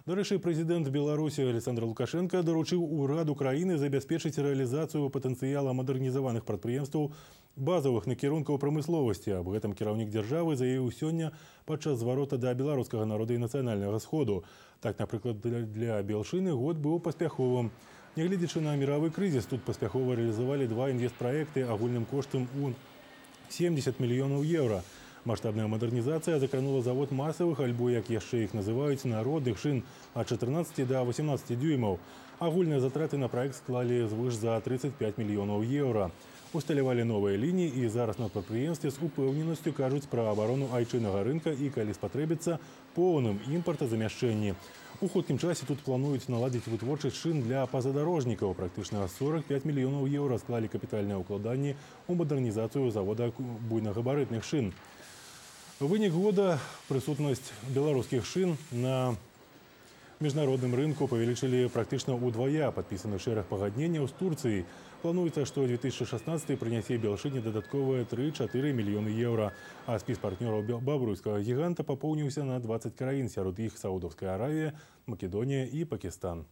Дарэчы, прэзідэнт Беларусі Александр Лукашенко даручыў ураду краіны забяспечыць рэалізацыю патэнцыяла мадэрнізаваных прадпрыемстваў базавых накірункаў прамысловасці. Аб гэтым кіраўнік дзяржавы заявіў сёння падчас зварота да беларускага народа і нацыянальнага сходу. Так, напрыклад, для Белшыны год быў паспяховым. Нягледзячы на міравы крызіс, тут паспяхова рэалізавалі два інвестпраекты агульным коштам у 70 мільёнаў еўра. Маштабная мадэрнізацыя закранула завод масавых, альбо, як яшчэ іх называюць, народных шын ад 14 до 18 дюймаў. Агульныя затраты на праект склалі звыш за 35 мільёнаў еўра. Усталявалі новыя лініі і зараз на прадпрыемстве з упэўненасцю кажуць пра абарону айчыннага рынка і, калі спатрэбіцца, поўным імпартазамяшчэнні. У хуткім часе тут плануюць наладзіць вытворчасць шын для пазадарожнікаў. Практычна 45 мільёнаў еўра склалі капітальныя ўкладанні ў мадэрнізацыю завода буйнагабарытных шын. Вынік года прысутнасць беларускіх шын на міжнародным рынку павялічылі практычна ўдвая. Падпісаны шэраг пагадненняў з Турцыяй. Плануецца, што 2016 прынясе Белшыне дадатковыя 3-4 мільёны еўра. А спіс партнёраў бабруйскага гіганта папоўніўся на 20 краін, сярод іх Саудаўская Аравія, Македонія і Пакістан.